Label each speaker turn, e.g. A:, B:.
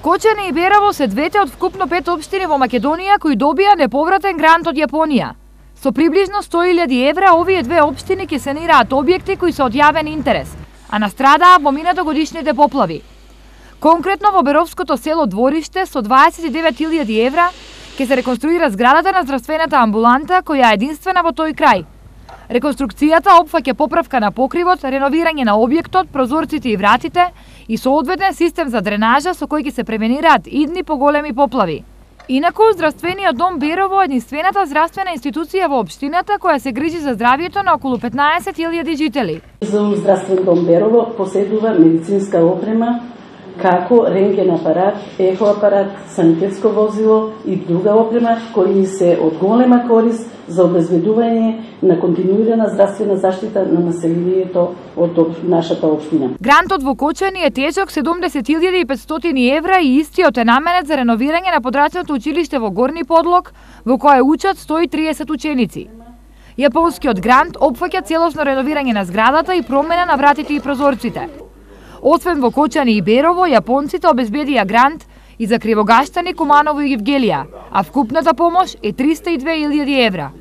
A: Кочани и Берово се двете од вкупно 5 општини во Македонија кои добија неповратен грант од Јапонија. Со приближно 100.000 евра овие две општини ќе санираат објекти кои се од јавен интерес, а настрадаа во минатогодишните поплави. Конкретно во Беровското село Двориште со 29.000 евра ќе се реконструира зградата на здравствената амбуланта која е единствена во тој крај. Реконструкцијата опфаќа поправка на покривот, реновирање на објектот, прозорците и вратите и соодветен систем за дренажа со кој ќе се превенираат идни поголеми поплави. Инаку, здравствениот дом Берово е единствената здравствена институција во општината која се грижи за здравјето на околу 15.000 жители.
B: Здравствен дом Берово поседува медицинска опрема, како рентген апарат, ехо апарат, санитетско возило и друга опрема кои се од голема корист за обезбедување на континуирана здравствена заштита на населението од нашата општина.
A: Грантот во Кочани е тежок 70.500 евра и истиот е наменет за реновирање на подрачното училиште во Горни Подлог, во кое учат 130 ученици. Јапонскиот грант опфаќа целосно реновирање на зградата и промена на вратите и прозорците. Освен во Кочани и Берово, јапонците обезбедија грант и за Кривогаштани, Куманово и Гевгелија, а вкупната помош е 302.000 евра.